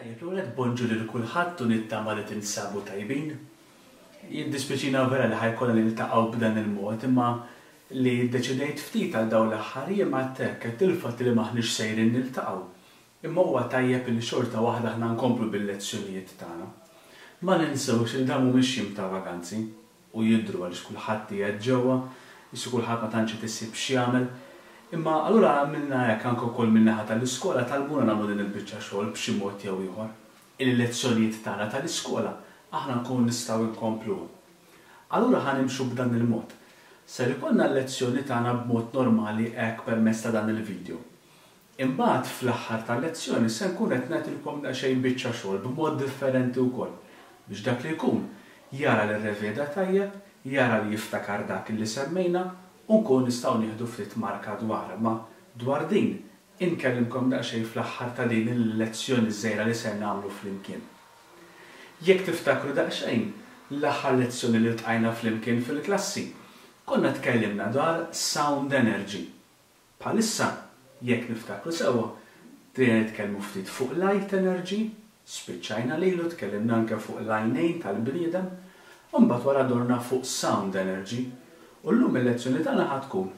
Tajjeb, l-ewwel nett bonġu lil kulħadd u nittama li tinsabu tajbin. Jiddispjaċina vera li ħa jkollna niltaqgħu b'dan il-mod imma li ddeċidejt ftit għal dawn l-aħħar jiem għedt hekk, għedt il-fatt li m'aħniex sejrin niltaqgħu. Imma huwa tajjeb li xorta waħda aħna nkomplu bil-lezzjonijiet tagħna. Ma ninsewx li dawn mhumiex jiem ta' vaganzi. u jidhru għaliex kulħadd qiegħed ġewwa, qisu kulħadd ma tantx qed isib x'jagħmel. Imma allura għamilna hekk anke wkoll min-naħa tal-iskola talbuna nagħmlu din il-biċċa xogħol b'xi mod jew ieħor, illi l-lezzjonijiet tagħna tal-iskola aħna nkunu nistgħu nkompluhom. Allura ħa nimxu b'dan il-mod. Ser ikollna l-lezzjoni tagħna b'mod normali hekk permezz ta' dan il-video. Imbagħad fl-aħħar tal-lezzjoni se nkun qed nagħtilkom daqsxejn biċċa xogħol b'mod differenti wkoll biex dak li jkun jara li rreveda tajjeb, jara li jiftakar dak li semmejna u nkunu nistgħu nieħdu ftit marka dwarha. Imma dwar din inkellimkom daqsxejn fl-aħħar ta' din il-lezzjoni żgħira li ser nagħmlu flimkien. Jekk tiftakru daqsxejn, l-aħħar lezzjoni li ltqajna flimkien fil-klassi, konna tkellimna dwar sound energy. Bħalissa, jekk niftakru sewwa, bdejna nitkellmu ftit fuq light energy, spiċċajna lilu, tkellimna anke fuq l-għajnejn tal-bniedem, u mbagħad wara dorna fuq sound energy. U llum il-lezzjoni tagħna ħa tkun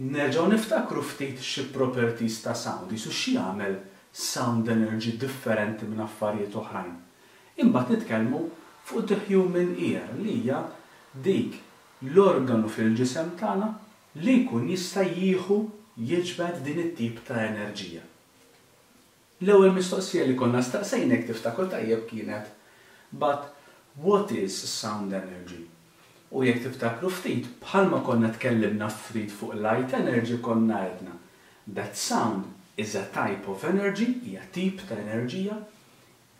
nerġgħu niftakru ftit xi properties ta' sound, qisu x'jagħmel sound energy differenti minn affarijiet oħrajn. Imbagħad nitkellmu fuq the human ear li hija dik l-organu fil-ġisem tagħna li jkun jista' jieħu, jiġbed din it-tip ta' enerġija. L-ewwel mistoqsija li konna staqsejna jekk tiftakru tajjeb kienet But what is sound energy? U jekk tiftakru ftit, bħalma konna tkellimna ftit fuq light energy konna għedna that sound is a type of energy, hija tip ta' enerġija,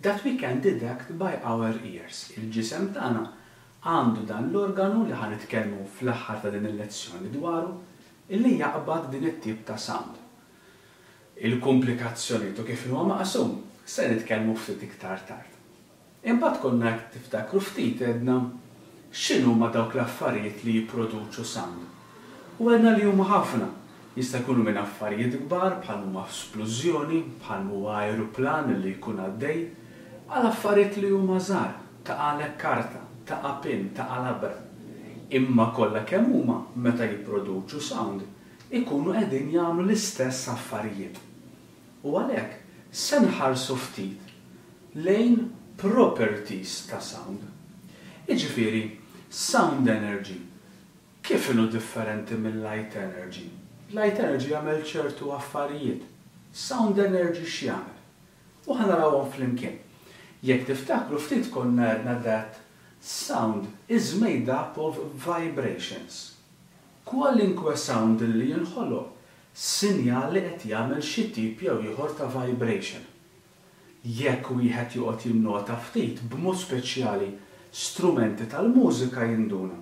That we can detect by our ears. Il-ġisem tagħna għandu dan l-organu li ħa nitkellmu fl-aħħar ta' din il-lezzjoni dwaru, illi jaqbad din it-tip ta' sound. Il-kumplikazzjonijiet u kif inhuwa maqsum se nitkellmu ftit iktar tard. Imbagħad konna jekk tiftakru ftit għedna x'inhuma dawk l-affarijiet li jipproduċu sound. U għedna li huma ħafna. Jista' jkunu minn affarijiet kbar bħal m'huma splużjoni, bħal m'huwa ajruplan li jkun għaddej, għal affarijiet li huma żgħar, taqagħlek karta, taqa' pin, taqa' labra. Imma kollha kemm huma meta jipproduċu sound ikunu qegħdin jagħmlu l-istess affarijiet. U għalhekk se nħarsu ftit lejn properties ta' sound. Jiġifieri sound energy Kif inhu differenti mil-light energy? Light energy jagħmel ċertu affarijiet. Sound energy x'jagħmel? U ħa narawhom flimkien. Jekk tiftakru ftit konna għedna that sound is made up of vibrations. Kwalinkwe sound li jinħoloq, sinjal li qed jagħmel xi tip jew ieħor ta' vibration. Jekk wieħed joqgħod jinnota ftit, b'mod speċjali strumenti tal-mużika jinduna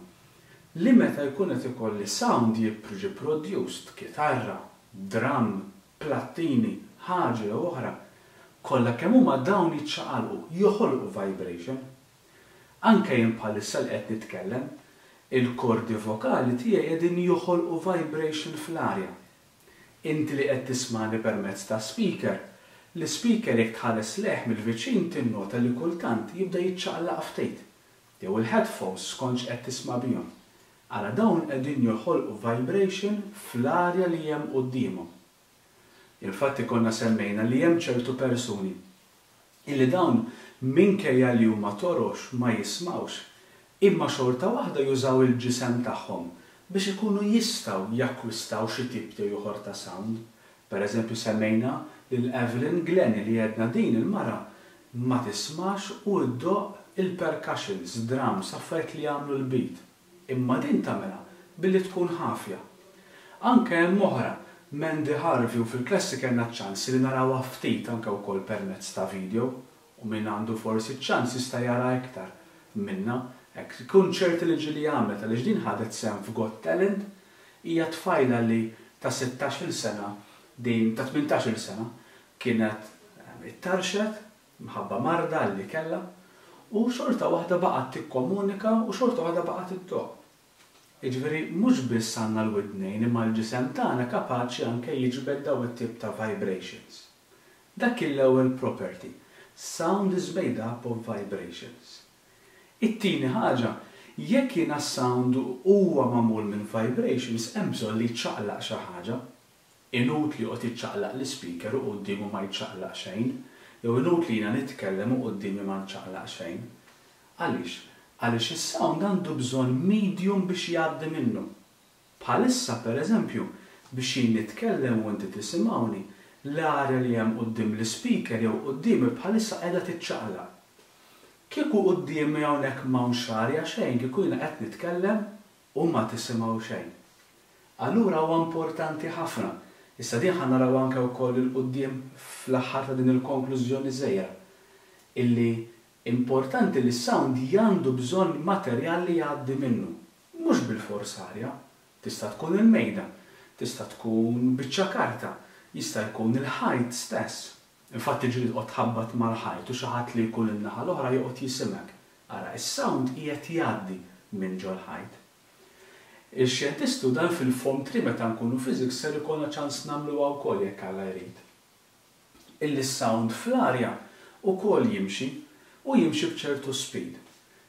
li meta jkun qed ikolli sound jiġi produced, kitarra, drum, plattini, ħaġa jew oħra, kollha kemm huma dawn jiċċaqalqu, joħolqu vibration. Anke jien bħalissa li qed nitkellem, il-kordi vokali tiegħi qegħdin joħolqu vibration fl-arja. Inti li qed tismagħni permezz ta' speaker, l-ispeaker jekk tħares lejh mill-viċin tinnota li kultant jibda jiċċaqlaq ftit, jew il-headphones skont x'qed tisma' bihom. Ara dawn qegħdin joħolqu vibration fl-arja li hemm quddiemhom. Infatti konna semmejna li hemm ċertu persuni illi dawn minkejja li huma torox ma jismgħux, imma xorta waħda jużaw il-ġisem tagħhom biex ikunu jistgħu jakkwistaw xi tip jew ieħor ta' sound. Per eżempju semmejna lil Evelyn Glennie li għedna din il-mara ma tismax u ddoqq il-percussions, drums, affarijiet li jagħmlu l-beat. Imma din tagħmilha billi tkun ħafja. Anke hemm oħra, Mandy Harvey u fil-klassi kellna ċ-ċans li narawha ftit anke wkoll permezz ta' video u min għandu forsi ċ-ċans jista' jara iktar minnha hekk kunċerti li ġieli għamlet għaliex din ħadet sehem f'Got Talent hija tfajla li ta' sittax-il sena din ta' tmintax-il sena kienet ittarxet minħabba marda li kellha, u xorta waħda baqgħet tikkomunika u xorta waħda baqgħet iddoqq. Jiġifieri mhux biss għandna l-widnejn imma l-ġisem tagħna kapaċi anke jiġbed dawn it-tip ta' vibrations. Dak kien l-ewwel property. Sound is made up of vibrations. It-tieni ħaġa, jekk jiena s-sound huwa magħmul minn vibrations hemm bżonn li jċaqlaq xi ħaġa. Inutli joqgħod jiċċaqlaq l-ispeaker u quddiemu ma jċaqlaq xejn, jew inutli jiena nitkellem u quddiemi ma nċaqlaq xejn. Għaliex? Għaliex is-sound għandu bżonn medium biex jgħaddi minnu. Bħalissa, per eżempju, biex jien nitkellem u inti tisimgħuni, l-arja li hemm quddiem l-ispeaker jew quddiemi bħalissa qiegħda tiċċaqlaq. Kieku quddiemi hawnhekk m'hawnx arja xejn kieku jiena qed nitkellem u ma tisimgħu xejn. Allura huwa importanti ħafna, issa din ħa naraw anke wkoll 'il quddiem fl-aħħar ta' din il-konklużjoni żgħira, illi importanti li s-sound għandu bżonn materjal li jgħaddi minnu. Mhux bilfors arja. Tista' tkun il-mejda, tista' tkun biċċa karta, jista' jkun il-ħajt stess. Infatti ġieli toqgħod tħabbat mal-ħajt u xi ħadd li jkun in-naħa l-oħra joqgħod jisimgħek. Ara, is-sound qiegħed jgħaddi minn ġol-ħajt. Ix-xjentisti, u dan fil-Form 3 meta nkunu physics ser ikollna ċans nagħmluha wkoll jekk Alla jrid, illi s-sound fl-arja wkoll jimxi u jimxi b'ċertu speed.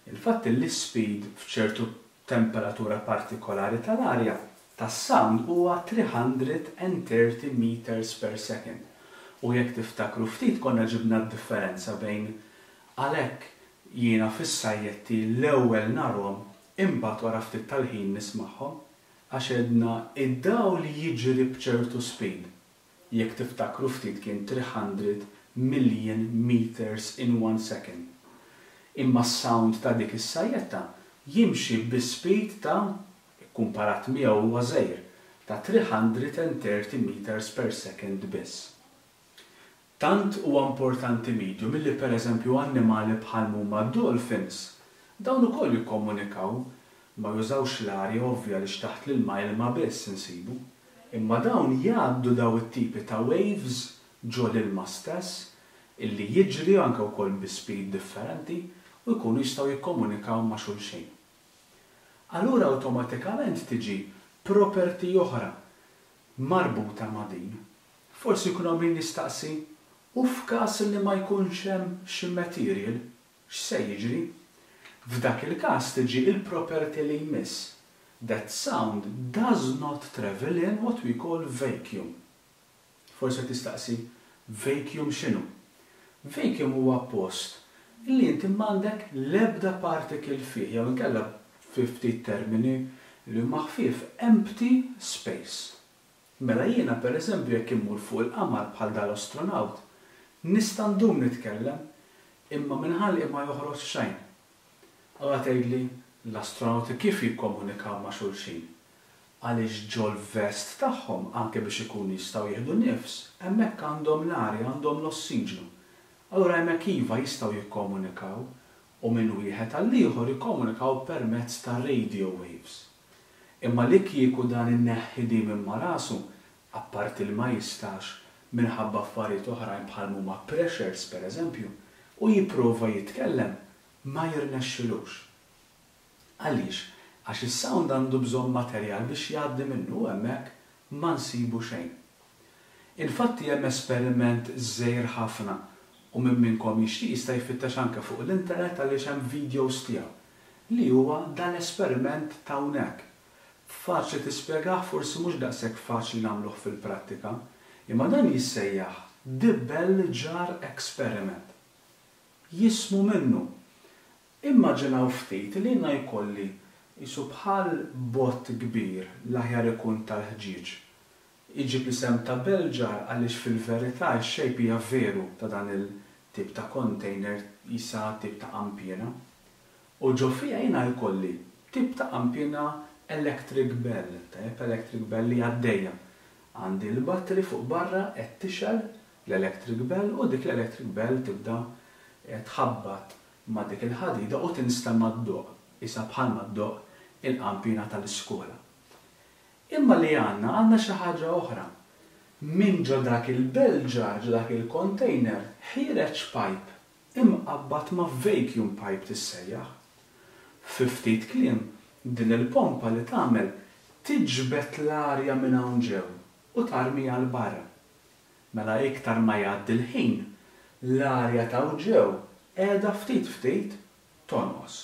Il-fatt illi s-speed f'ċertu temperatura partikolari tal-arja tas-sound huwa 330 meters per second. U jekk tiftakru ftit konna ġibna d-differenza bejn għalhekk jiena fis-sajjetti l-ewwel narhom imbagħad wara ftit tal-ħin nismagħhom, għax għedna id-dawl jiġri b'ċertu speed. Jekk tiftakru ftit kien 300 million meters in one second. Imma s-sound ta' dik is-sajjetta jimxi bi speed ta', ikkumparat miegħu huwa żgħir, ta' 330 meters per second biss. Tant huwa importanti medium illi pereżempju annimali bħal m'huma d-dolphins, dawn ukoll jikkomunikaw, ma jużawx l-arja ovvja għaliex taħt l-ilma ilma biss insibu, imma dawn jgħaddu daw it-tipi ta' waves ġo l-ilma stess illi jiġri anke wkoll bi speed differenti u jkunu jistgħu jikkomunikaw ma' xulxin. Allura awtomatikament tiġi property oħra marbuta ma' din. Forsi jkun hawn min jistaqsi, u f'każ li ma jkunx hemm xi material, x'se jiġri? F'dak il-każ tiġi il-property li jmiss, that sound does not travel in what we call vacuum. Forsi tistaqsi, vacuum x'inhu? Vacuum huwa post li inti m'għandek l-ebda particle fih, jew inkella fi ftit termini li huma ħfief, empty space. Mela jiena pereżempju jekk immur fuq il-qamar bħal dal-astronaut, nista' ndum nitkellem, imma minn ħalqi ma joħroġ xejn. Allura tgħidli, l-astronauti kif jikkomunikaw ma' xulxin? Għaliex ġol-vest tagħhom, anke biex ikunu jistgħu jieħdu nifs, hemmhekk għandhom l-arja, għandhom l-ossiġnu. Allura hemmhekk iva jistgħu jikkomunikaw u minn wieħed għall-ieħor jikkomunikaw permezz ta' radio waves. Imma li kieku dan inneħħi di minn ma' rasu, apparti li ma jistax minħabba affarijiet oħrajn bħal m'huma pressures pereżempju, u jipprova jitkellem, ma jirnexxilux. Għaliex? Għax is-sound għandu bżonn materjal biex jgħaddi minnu u hemmhekk ma nsibu xejn. Infatti hemm esperiment żgħir ħafna u min minnkom jixtieq jista' jfittex anke fuq l-internet għaliex hemm videos tiegħu, li huwa dal-esperiment t'hawnhekk. Faċli tispjegah forsi mhux daqshekk faċli nagħmluh fil-prattika, imma dan jissejjaħ The Bell Jar Experiment. Jismu minnu. Immaġinaw ftit li jiena jkolli qisu bħal bott kbir, l-aħjar ikun tal-ħġieġ. Iġib l-isem ta' bell jar għaliex fil-verità x-shape hija veru ta' dan il-tip ta' container qisha tip ta' qanpiena. U ġo fiha jiena jkolli tip ta' qanpiena electric bell, tajjeb electric bell li għaddejja. Għandi l-battery fuq barra qed tixgħel l-electric bell u dik l-electric bell tibda tħabbat ma' dik il-ħadida u tinstema' ddoqq, qisha bħalma ddoqq il-qanpiena tal-iskola. Imma li għandna, għandna xi ħaġa oħra. Minn ġo dak il-bell jar, ġo dak il-container, ħiereġ pipe imqabbad ma' vacuum pipe tissejjaħ. Fi ftit kliem, din il-pompa li tagħmel tiġbed l-arja minn hawn ġew u tarmiha 'l barra. Mela iktar ma jgħaddi l-ħin, L-arja t'hawn ġew qiegħda ftit ftit tonqos.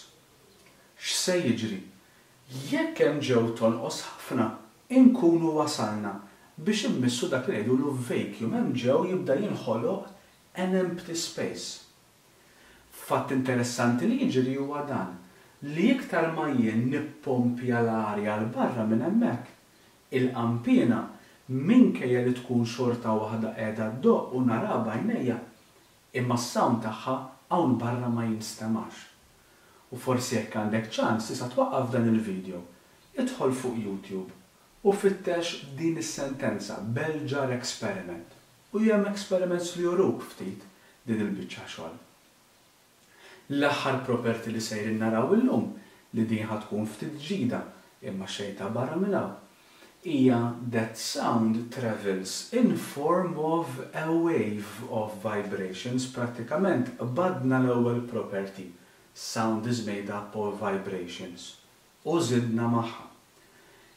X'se jiġri? Jekk hemm ġew tonqos ħafna, inkunu wasalna biex immissu dak li ngħidulu vacuum, hemm ġew jibda jinħoloq an empty space. Fatt interessanti li jiġri huwa dan, li iktar ma jien nippompja l-arja 'l barra minn hemmhekk, il-qanpiena, minkejja li tkun xorta waħda qiegħda ddoqq u naraha b'għajnejja, imma s-sound tagħha hawn barra ma jinstemax. U forsi jekk għandek ċans tista' twaqqaf dan il-video, idħol fuq YouTube u fittex din is-sentenza Bell Jar Experiment u hemm experiments li juruk ftit din il-biċċa xogħol. L-aħħar property li sejrin naraw illum, li din ħa tkun ftit ġdida, imma xejn ta' barra minn hawn, hija that sound travels in form of a wave of vibrations, prattikament qbadna l-ewwel property, sound is made up of vibrations, u żidna magħha.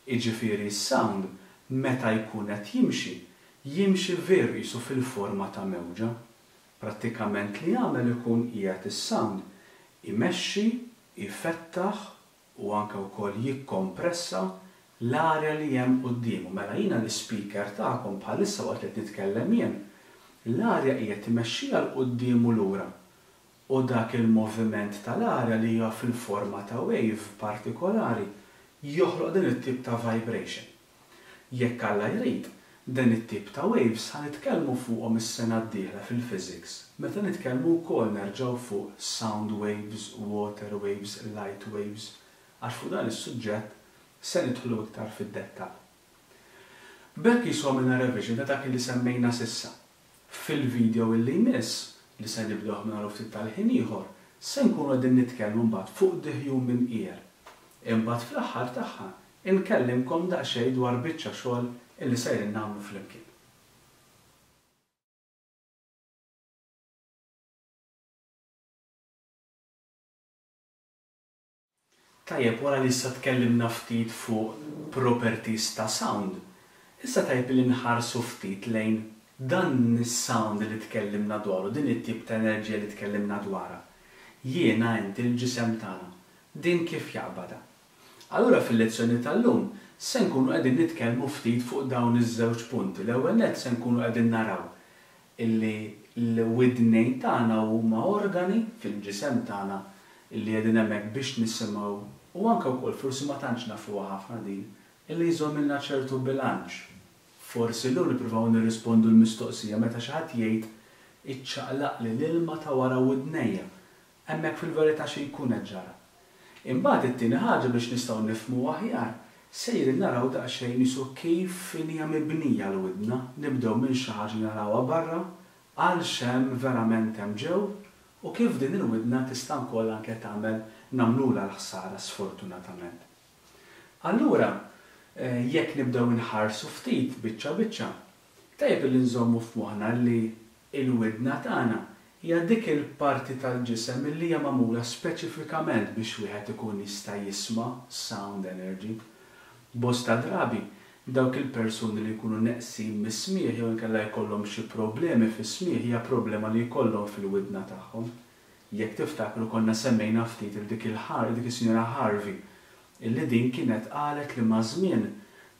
Jiġifieri s-sound meta jkun qed jimxi, jimxi veru qisu fil-forma ta' mewġa. Prattikament li jagħmel ikun qiegħed is-sound imexxi, jfettaħ u anke wkoll jikkompressa l-arja li hemm quddiemu. Mela jiena l-ispeaker tagħkom bħalissa waqt li qed nitkellem jien, l-arja qiegħed imexxiha 'l quddiem u lura u dak il-moviment tal-arja li huwa fil-forma ta' wave partikolari joħloq din it-tip ta' vibration. Jekk Alla jrid, din it-tip ta' waves ħa nitkellmu fuqhom is-sena d-dieħla fil-physics meta nitkellmu wkoll nerġgħu fuq sound waves, water waves, light waves għax fuq dan is-suġġett se nidħlu iktar fid-dettall. B'hekk qisu għamilna revision ta' dak li semmejna s'issa. Fil-video illi jmiss, li se nibdewh minn hawn u ftit tal-ħin ieħor, se nkunu qegħdin nitkellmu mbagħad fuq the human ear. Imbagħad fl-aħħar tagħha inkellimkom daqsxejn dwar biċċa xogħol illi sejrin nagħmlu flimkien. Tajjeb, wara li issa tkellimna ftit fuq properties ta' sound, issa tajjeb li nħarsu ftit lejn dan is-sound li tkellimna dwaru, din it-tip ta' enerġija li tkellimna dwarha. Jiena, inti, il-ġisem tagħna, din kif jaqbadha? Allura fil-lezzjoni tal-lum se nkunu qegħdin nitkellmu ftit fuq dawn iż-żewġ punti. L-ewwel nett se nkunu qegħdin naraw illi l-widnejn tagħna huma organi fil-ġisem tagħna illi qegħdin hemmhekk biex nisimgħu u anke wkoll forsi ma tantx nafuha ħafna din, illi jżommilna ċertu bilanċ. Forsi llum nippruvaw nirrispondu l-mistoqsija meta xi ħadd jgħid iċċaqlaqli l-ilma ta' wara widnejja Hemmhekk fil-verità xi jkun qed ġara. Imbagħad it-tieni ħaġa biex nistgħu nifhmu aħjar, sejrin naraw daqsxejn qisu kif inhija mibnija l-widna, nibdew minn xi ħaġa li narawha barra għal x'hemm verament hemm ġew u kif din il-widna tista' wkoll anke tagħmel nagħmlulha l-ħsara sfortunatament. Allura jekk nibdew inħarsu ftit biċċa biċċa, tajjeb illi nżommu f'moħħna li Il-widna tagħna hija dik il-parti tal-ġisem li hija magħmula speċifikament biex wieħed ikun jista' jisma' sound energy. Bosta drabi, dawk il-persuni li jkunu neqsin mis-smigħ jew inkella jkollhom xi problemi fis-smigħ hija problema li jkollhom fil-widna tagħhom. Jekk tiftakru konna semmejna ftit 'il dik il dik is-Sinjora Harvey illi din kienet qalet li maż-żmien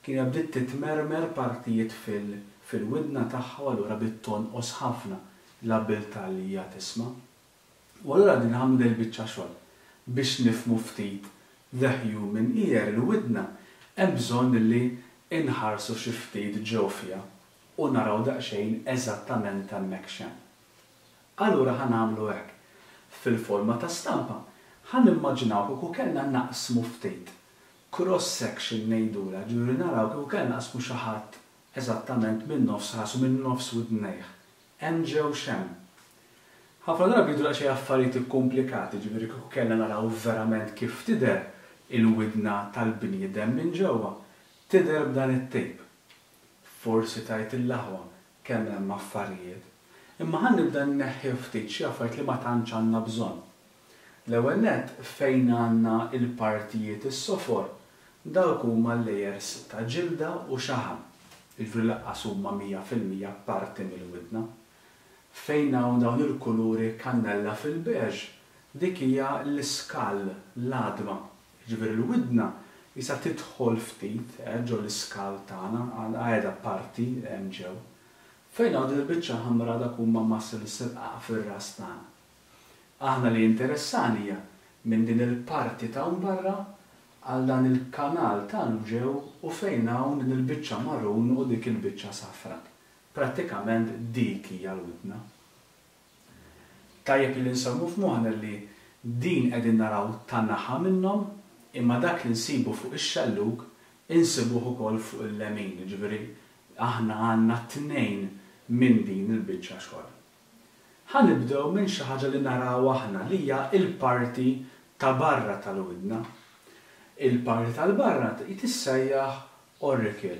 kienet bdiet titmermer partijiet fil fil-widna tagħha u allura bdiet tonqos ħafna l-abbiltà li hija tisma'. U allura qegħdin nagħmlu din il-biċċa xogħol biex nifhmu ftit the human ear, il-widna, hemm bżonn illi inħarsu xi ftit ġew fiha u naraw daqsxejn eżattament hemmhekk x'hemm. Allura ħa nagħmlu hekk. Fil-forma ta' stampa, ħa nimmaġinaw kieku kellna naqsmu ftit. Cross section ngħidulha, ġifieri naraw kieku kellna naqsmu xi ħadd eżattament minn nofs rasu, minn nofs widnejh. Hemm ġew x'hemm. Ħafna drabi jidhru daqsxejn affarijiet ikkumplikati, ġifieri kieku kellna naraw verament kif tidher il-widna tal-bniedem minn ġewwa, tidher b'dan it-tip. Forsi tgħid il-aħwa kemm hemm affarijiet. Imma ħa nibda nneħħi ftit xi affarijiet li ma tantx għandna bżonn. L-ewwel nett fejn għandna l-partijiet is-sofor, dawk huma layers ta' ġilda u xaħam, jiġifieri lanqas huma 100% parti mill-widna. Fejn hawn dawn il-kuluri kannella fil-beige, dik hija l-iskall, l-għadma. Jiġifieri l-widna qisha tidħol ftit ġo l-iskall tagħna, qiegħda parti hemm ġew. Fejn hawn din il-biċċa ħamra dak huma muscles irqaq fir-ras tagħna. Aħna li jinteressana hija minn din il-parti t'hawn barra għal dan il-kanal t'hawn ġew u fejn hawn din il-biċċa maroon u dik il-biċċa safra. Prattikament dik hija l-widna. Tajjeb illi nsemmu f'moħħna li din qegħdin naraw ta' naħa minnhom imma dak li nsibu fuq ix-xellug insibuh ukoll fuq il-lemin, jiġifieri aħna għandna tnejn minn din il-biċċa xogħol. Ħa nibdew minn xi ħaġa li naraw aħna li hija l-parti ta' barra tal-widna. Il-parti tal-barra tissejjaħ auricle,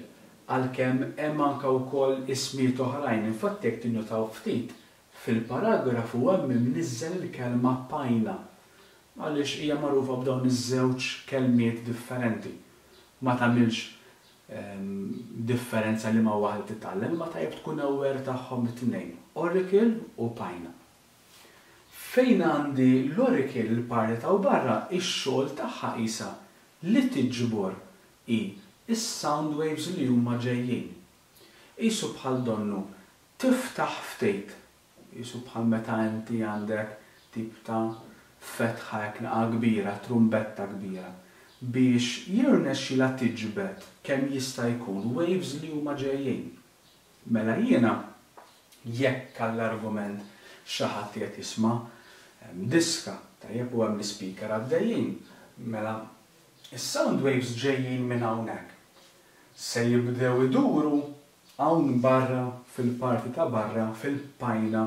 għalkemm hemm anke wkoll ismijiet oħrajn, infatti jekk tinnutaw ftit, fil-paragrafu hemm imniżżel il-kelma pajna, għaliex hija magħrufa b'dawn iż-żewġ kelmiet differenti. Ma tagħmilx differenza liema waħda titgħallem, imma tajjeb tkun aware tagħhom it-tnejn, auricle u pajna. Fejn għandi l-auricle, il-parti ta' barra, ix-xogħol tagħha qisha li tiġbor hi s-sound waves li huma ġejjin. Qisu bħal donnu tiftaħ ftit, qisu bħal meta inti għandek tip ta' fetħa hekk naqa' kbira, trumbetta kbira, biex jirnexxilha tiġbed kemm jista' jkun waves li huma ġejjin. Mela jiena, jekk għall-argument xi ħadd qiegħed jisma' diska, tajjeb, u hemm l-ispeaker għaddejjin, mela Is-sound waves ġejjin minn hawnhekk. Se jibdew iduru hawn barra fil-parti ta' barra fil-pajna,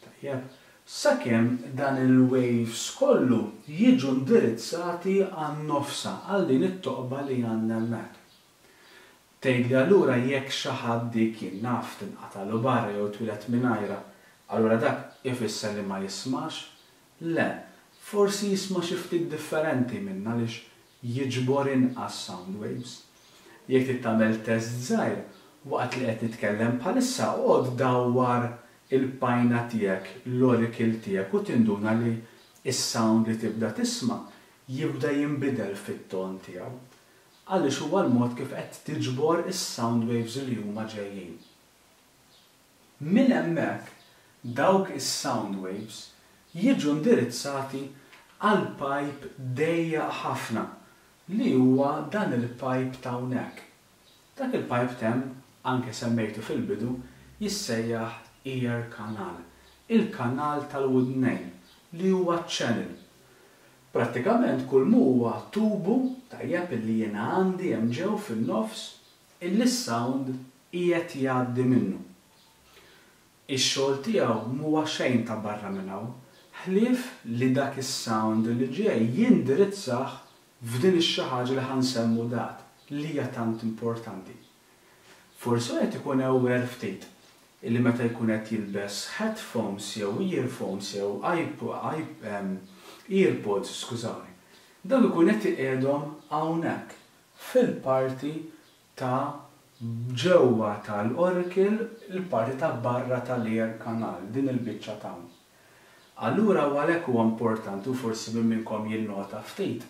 tajjeb, sakemm dan il-waves kollu jiġu ndirizzati għan-nofsa, għal din it-toqba li għandna hemmhekk. Tgħidli allura jekk xi ħadd dik jien naf tinqatagħlu barra jew twieled mingħajrha, allura dak ifisser li ma jismax? Le, forsi jisma' xi ftit differenti minna għaliex jiġbor inqas sound waves. Jekk trid tagħmel test żgħir, waqt li qed nitkellem bħalissa oqgħod dawwar il-pajna tiegħek, l-auricle tiegħek u tinduna li s-sound li tibda tisma' jibda jinbidel fit-ton tiegħu. Għaliex huwa l-mod kif qed tiġbor is-sound waves li huma ġejjin. Minn hemmhekk dawk is-sound waves jiġu ndirizzati għal pipe dejjaq ħafna li huwa dan il-pipe t'hawnhekk. Dak il-pipe t'hemm, anke semmejtu fil-bidu, jissejjaħ ear canal, il-kanal tal-widnejn, li huwa channel. Prattikament kull m'huwa tubu, tajjeb, illi jiena għandi hemm ġew fin-nofs, illi s-sound qiegħed jgħaddi minnu. Ix-xogħol tiegħu m'huwa xejn ta' barra minn hawn, ħlief li dak is-sound li ġej jindirizzah f'din ix-xi ħaġa li ħa nsemmu dat, li hija tant importanti. Forsi wieħed ikun aware ftit illi meta jkun qed jilbes headphones jew earphones jew earpods, skużawni, dawn ikun qed iqiegħdhom hawnhekk fil-parti ta' ġewwa tal-auricle, il-parti ta' barra tal-ear canal, din il-biċċa t'hawn. Allura u għalhekk huwa importanti u forsi min minnkom jinnota ftit,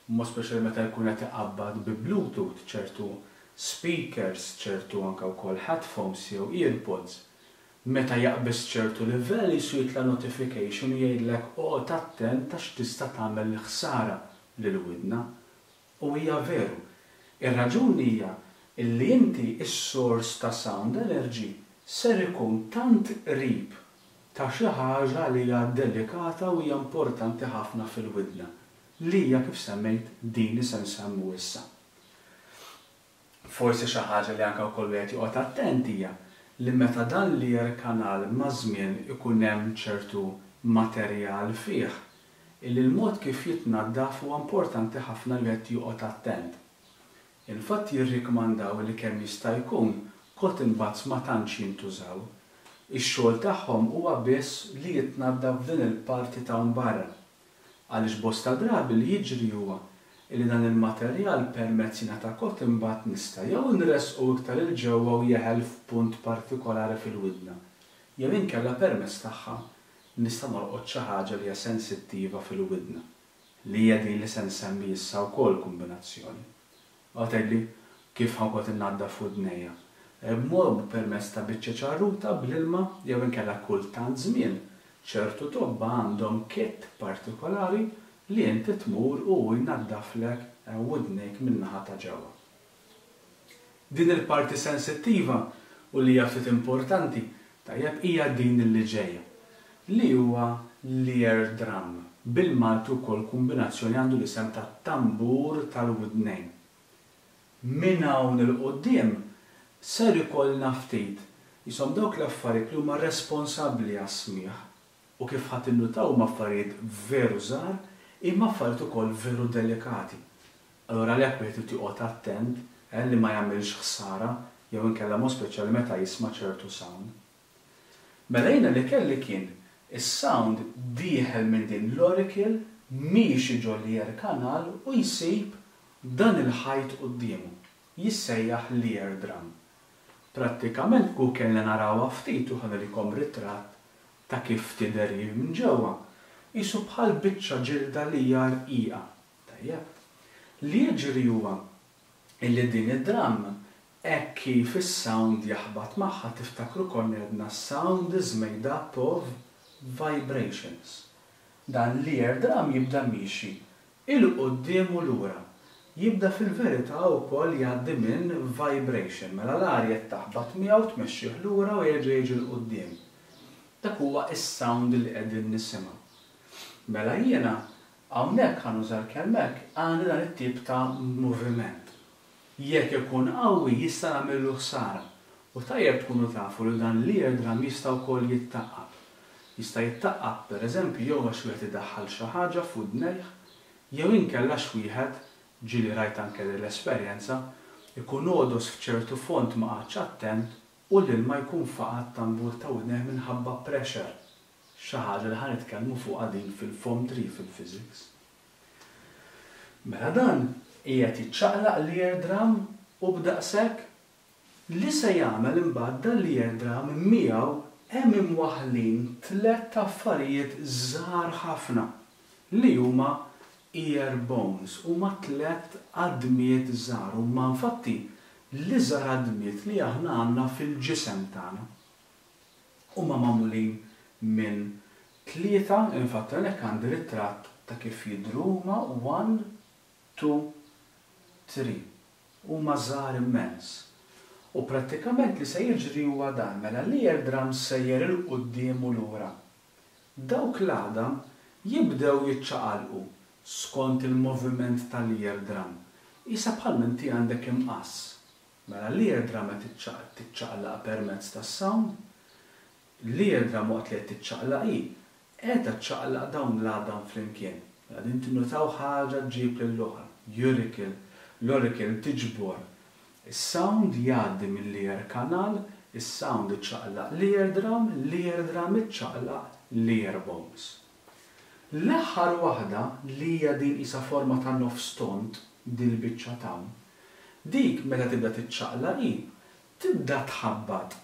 b'mod speċjali meta jkun qed iqabbad bi bluetooth ċertu speakers, ċertu anke wkoll headphones jew earpods, meta jaqbeż ċertu livell qisu jitla' notification u jgħidlek oqgħod attent għax tista' tagħmel ħsara lill-widna. U hija veru. Ir-raġuni hija illi inti s-source ta' sound energy ser ikun tant qrib ta' xi ħaġa li hija delikata u hija importanti ħafna fil-widna, li hija kif semmejt din li se nsemmu issa. Forsi xi ħaġa li anke wkoll wieħed joqgħod attent hija li meta dan l-ear canal maż-żmien ikun hemm ċertu materjal fih, illi l-mod kif jitnaddaf huwa importanti ħafna li wieħed joqgħod attent. Infatti jirrikmandaw li kemm jista' jkun cotton buds ma tantx jintużaw. Ix-xogħol tagħhom huwa biss li jitnaddaf din il-parti t'hawn barra. Għaliex bosta drabi li jiġri huwa illi dan il-materjal permezz jingħata cotton bud nista' jew inressqu iktar 'il ġewwa u jeħel f'punt partikolari fil-widna. Jew inkella permezz tagħha nista' nolqot xi ħaġa li hija sensittiva fil-widna, li hija din li se nsemmi issa wkoll kumbinazzjoni. Għad tgħidli, kif ħa nqgħod innaddaf widnejja? B'mod permezz ta' biċċa ċarruta bl-ilma jew inkella kull tant żmien, ċertu tobba għandhom kit partikolari li inti tmur u hu jnaddaflek widnejk min-naħa ta' ġewwa. Din il-parti sensittiva u li hija ftit importanti, tajjeb, hija din li ġejja, li huwa l-ear drum, bil-Malti wkoll kumbinazzjoni għandu l-isem ta' tambur tal-widnejn. Minn hawn 'il quddiem ser ikollna ftit, qishom dawk l-affarijiet li huma responsabbli għas-smigħ, U kif ħa tinnutaw huma affarijiet veru żgħar imma affarijiet ukoll veru delikati. Allura għalhekk wieħed irid joqgħod attent eh li ma jagħmilx ħsara jew inkella mod speċjali meta jisma' ċertu sound. Mela jiena li kelli kien is-sound dieħel minn din l-auricle miexi ġo l-ear canal u jsib dan il-ħajt quddiemu. Jissejjaħ l-ear drum. Prattikament kieku kellna narawha ftit u ħa nurikom ritratt ta' kif tidher hi minn ġewwa, qisu bħal biċċa ġilda li hija rqiqa. Tajjeb. Li jiġri huwa illi din id-drum hekk kif is-sound jaħbat magħha tiftakru konna għedna sound is made up of vibrations. Dan l-ear drum jibda miexi 'Il quddiem u lura. Jibda fil-verità wkoll jgħaddi minn vibration, mela l-arja qed taħbat miegħu tmexxih lura u jerġa' jiġi 'l quddiem. Dak huwa s-sound li qegħdin nisimgħu. Mela jiena hawnhekk, ħa nuża l-kelma hekk, għandi dan it-tip ta' moviment. Jekk ikun qawwi jista' nagħmillu ħsara. U tajjeb tkunu tafu li dan l-eardrum jista' wkoll jittaqqab. Jista' jittaqqab, per eżempju, jew għax wieħed idaħħal xi ħaġa f'widnejh, jew inkella għax wieħed, ġieli rajt anke din l-esperjenza, ikun għodos f'ċertu fond ma qagħadx attent u l-ilma jkun faqa' t-tambur ta' widnejh minħabba pressure, xi ħaġa li ħa nitkellmu fuqha din fil-Form 3 fil-Physics. Mela dan qiegħed jiċċaqlaq l-ear drum u b'daqshekk? Li se jagħmel imbagħad dan l-ear drum miegħu hemm imwaħħlin tlett affarijiet żgħar ħafna li huma ear bones, huma tlett għadmiet żgħar, huma infatti l-iżgħar għadmiet li aħna għandna fil-ġisem tagħna. Huma magħmulin minn tlieta, infatti hawnhekk għandi ritratt ta' kif jidhru huma, one, two, three. Huma żgħar immens. U prattikament li se jiġri huwa dan, mela l-ear drum sejjer 'il quddiem u lura. Dawk l-għadam jibdew jiċċaqalqu skont il-moviment tal-ear drum, qisha bħal m'inti għandek imqass. Mela l-ear drum qed tiċċaqlaq permezz tas-sound. L-ear drum waqt li qed tiċċaqlaq hi, qiegħda ċċaqlaq dawn l-għadam flimkien. Mela din tinnutaw ħaġa ġġib lill-oħra. Auricle, l-auricle tiġbor is-sound jgħaddi mill-ear canal, is-sound iċċaqlaq l-ear drum, l-ear drum iċċaqlaq l-ear bones. L-aħħar waħda li hija din qisha forma ta' nofs tond, dil-biċċa t'hawn, Dik meta tibda tiċċaqlaq hi tibda tħabbat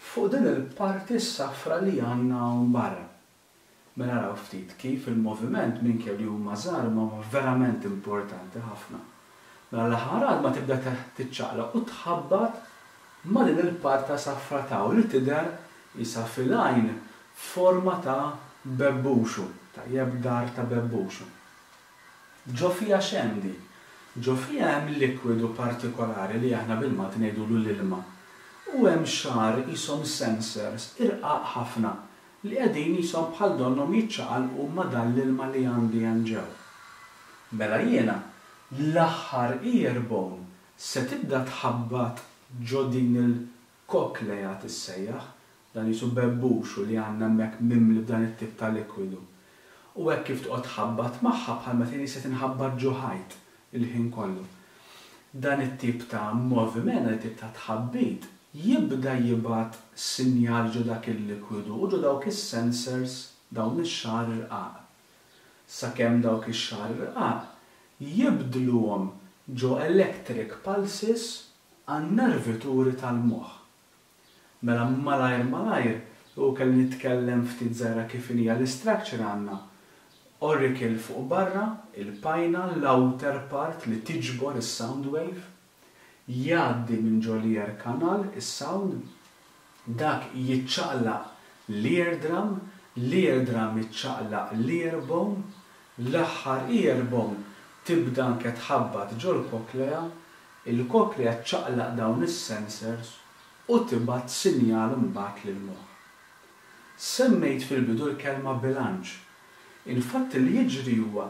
fuq din il-parti s-safra li għandna hawn barra. Mela araw ftit kif il-moviment minkejja li huma żgħar imma huma verament importanti ħafna. Mela l-aħħar għadma tibda tiċċaqlaq u tħabbat ma' din il-parta safra t'hawn li tidher qisha fil-għajn forma ta' bebbuxu, tajjeb dar ta' bebbuxu. Ġo fiha x'hemm dik? Ġo fiha hemm likwidu partikolari li aħna bil-Malti ngħidulu l-ilma. U hemm xagħar qishom sensors irqaq ħafna li qegħdin qishom bħal donnhom jiċċaqalqu ma' dan l-ilma li għandi hemm ġew. Mela jiena l-aħħar ear bone se tibda tħabbat ġo din il-cochlea tissejjaħ, Dan qisu bebbuxu li għandna hemmhekk mimli b'dan it-tip ta' likwidu. U hekk kif toqgħod tħabbat magħha bħal meta jien qisha tinħabbat ġo ħajt il-ħin kollu. Dan it-tip ta' moviment, dan it-tip ta' tħabbit jibda jibgħat sinjal ġo dak il-likwidu u ġo dawk is-sensors, dawn ix-xagħar irqaq. Sakemm dawk ix-xagħar irqaq jibdluhom ġo electric pulses għan-nervituri tal-moħħ. Mela malajr malajr U kelli nitkellem ftit żgħira kif inhija l-istructure għandna auricle fuq barra, il-pinna, l-outer part li tiġbor is-sound wave, jgħaddi minn ġo l-ear canal is-sound, dak jiċċaqlaq l-ear drum, l-ear drum iċċaqlaq l-ear bone, l-aħħar ear bone tibda anke tħabbat ġol-cochlea, il-cochlea ċċaqlaq dawn is-sensors u tibgħat sinjal imbagħad lill-moħħ. Semmejt fil-bidu l-kelma bilanċ. Infatti li jiġri huwa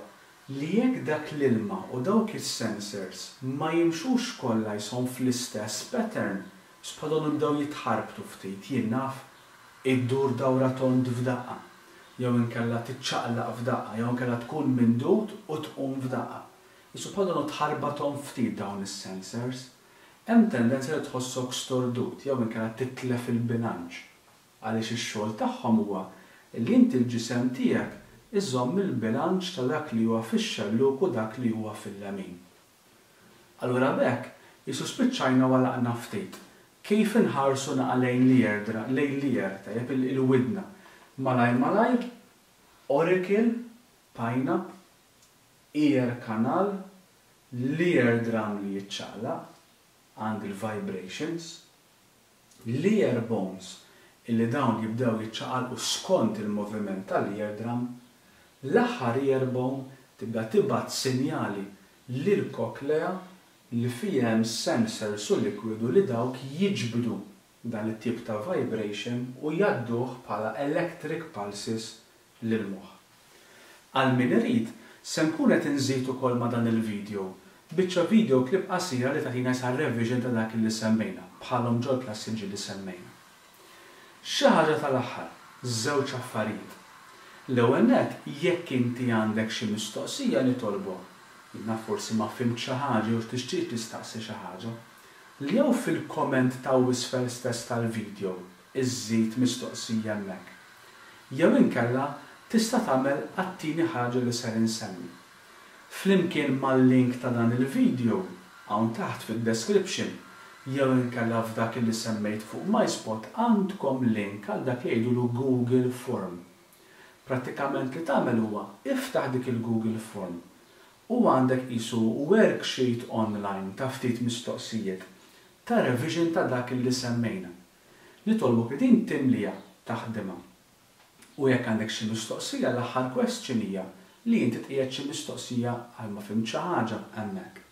li jekk dak l-ilma u dawk is-sensors ma jimxux kollha jishom fl-istess pattern, bħal donnhom jibdew jitħarbtu ftit, jien naf, iddur dawra tond f'daqqa, jew inkella tiċċaqlaq f'daqqa, jew inkella tkun mindud u tqum f'daqqa. Qisu bħal donnu tħarbathom ftit dawn is-sensors. Hemm tendenza li tħossok stordut jew inkella titlef il-bilanċ. Għaliex ix-xogħol tagħhom huwa li inti l-ġisem tiegħek iżomm il-bilanċ ta' dak li huwa fix-xellug u dak li huwa fil-lemin. Allura b'hekk qisu spiċċajna u għalaqna ftit. Kif inħarsu naqa' lejn l-ear lejn l-ear, tajjeb, il-widna. Malajr malajr, auricle, pinna, ear canal, l-ear drum li jiċċaqlaq, għand il-vibrations, l-ear bones illi dawn jibdew jiċċaqalqu skont il-moviment tal-ear drum, l-aħħar ear bone tibda tibgħat sinjali lill-cochlea li fiha hemm sensors u likwidu li dawk jiġbdu dan it-tip ta' vibration u jgħadduh bħala electric pulses lill-moħħ. Għal min irid, se nkun qed inżid ukoll ma' dan il-video biċċa video clip qasira li tagħtina issa revision ta' dak li semmejna, bħalhom ġol-klassi ġieli semmejna. Xi ħaġa tal-aħħar, żewġ affarijiet. L-ewwel nett, jekk inti għandek xi mistoqsija nitolbok, jien naf forsi ma fhimt xi ħaġa jew tixtieq tistaqsi xi ħaġa, li jew fil-comment ta' isfel stess tal-video iżżid mistoqsija hemmhekk. Jew inkella tista' tagħmel għat-tieni ħaġa li ser insemmi. Flimkien mal-link ta' dan il-video, hawn taħt fid-description, jew inkella f'dak li semmejt fuq MySpot għandkom link għal dak li jgħidulu Google Form. Prattikament li tagħmel huwa iftaħ dik il-Google Form u għandek qisu worksheet online ta' ftit mistoqsijiet ta' revision ta' dak li semmejna. Nitolbok li din timlija taħdimha. U jekk għandek xi mistoqsija, l-aħħar question hija li inti tqiegħed xi mistoqsija għal ma fhimt xi ħaġa hemmhekk.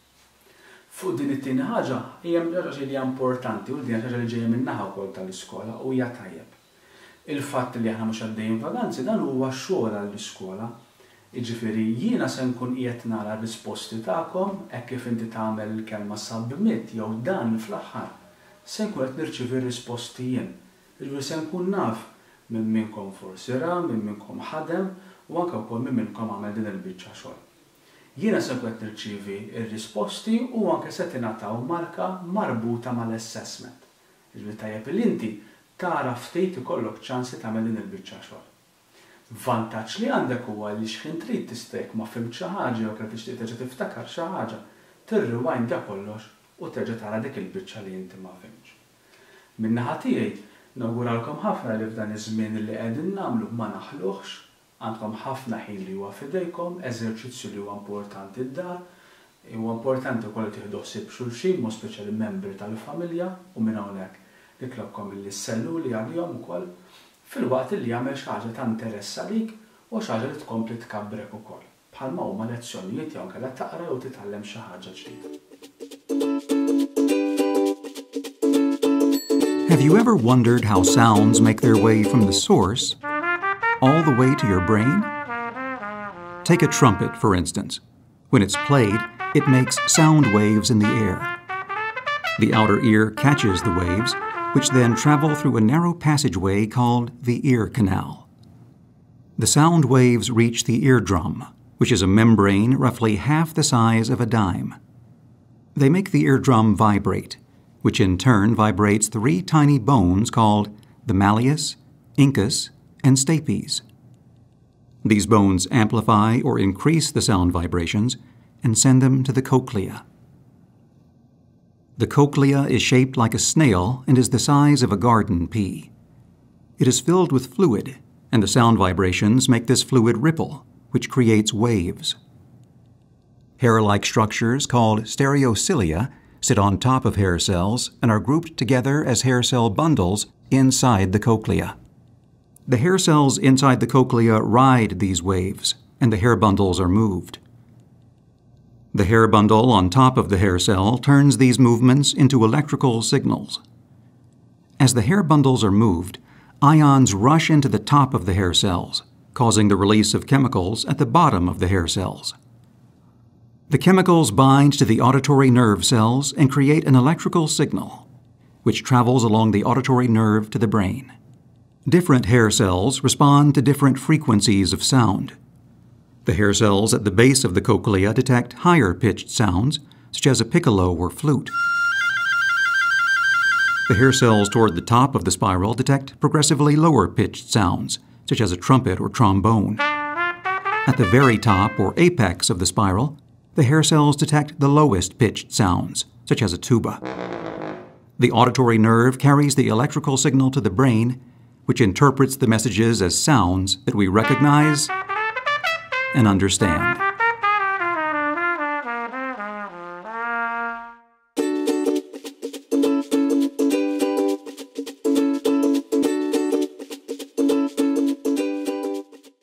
Fuq din it-tieni ħaġa hija ħaġa li hija importanti u din ħaġa li ġejja min-naħa wkoll tal-iskola u hija tajjeb. Il-fatt li aħna mhux għaddejjin vaganzi dan huwa xogħol għall-iskola. Jiġifieri jiena se nkun qiegħed nara r-risposti tagħkom hekk kif inti tagħmel il-kelma submit jew done fl-aħħar. Se nkun qed nirċievi r-risposti jien. Jiġifieri se nkun naf minn minnkom forsi ra, minn minnkom ħadem u anke wkoll minn minnkom għamel din il-biċċa xogħol. Jiena se nkun qed nirċievi r-risposti u anke se tingħataw marka marbuta mal-assessment. Jiġifieri tajjeb li inti tara ftit ikollok ċans li tagħmel din il-biċċa xogħol. Vantaġġ li għandek huwa li x'ħin trid tista' jekk ma fhimt xi ħaġa jew kellek tixtieq terġa' tiftakar xi ħaġa, tirrewindja kollox u terġa' tara dik il-biċċa li inti ma fhimtx. Min-naħa tiegħi, nawguralkom ħafna li f'dan iż-żmien li qegħdin nagħmlu ma naħluhx, għandkom ħafna ħin li huwa f'idejkom, eżerċizzju li huwa importanti d-dar, huwa importanti wkoll li tieħdu ħsieb xulxin, mod speċjali membri tal-familja, u minn hawnhekk nitlobkom illi sselluli għalihom ukoll, filwaqt illi jagħmel xi ħaġa ta' interess għalik u xi ħaġa li tkompli tkabbrek ukoll, bħalma huma lezzjonijiet jew inkella taqra jew titgħallem xi ħaġa ġdida. Have you ever wondered how sounds make their way from the source all the way to your brain? Take a trumpet, for instance. When it's played, it makes sound waves in the air. The outer ear catches the waves, which then travel through a narrow passageway called the ear canal. The sound waves reach the eardrum, which is a membrane roughly half the size of a dime. They make the eardrum vibrate, which in turn vibrates three tiny bones called the malleus, incus, and stapes. These bones amplify or increase the sound vibrations and send them to the cochlea. The cochlea is shaped like a snail and is the size of a garden pea. It is filled with fluid, and the sound vibrations make this fluid ripple, which creates waves. Hair-like structures called stereocilia sit on top of hair cells and are grouped together as hair cell bundles inside the cochlea. The hair cells inside the cochlea ride these waves, and the hair bundles are moved. The hair bundle on top of the hair cell turns these movements into electrical signals. As the hair bundles are moved, ions rush into the top of the hair cells, causing the release of chemicals at the bottom of the hair cells. The chemicals bind to the auditory nerve cells and create an electrical signal, which travels along the auditory nerve to the brain. Different hair cells respond to different frequencies of sound. The hair cells at the base of the cochlea detect higher pitched sounds, such as a piccolo or flute. The hair cells toward the top of the spiral detect progressively lower pitched sounds, such as a trumpet or trombone. At the very top or apex of the spiral, the hair cells detect the lowest pitched sounds, such as a tuba. The auditory nerve carries the electrical signal to the brain, which interprets the messages as sounds that we recognize and understand.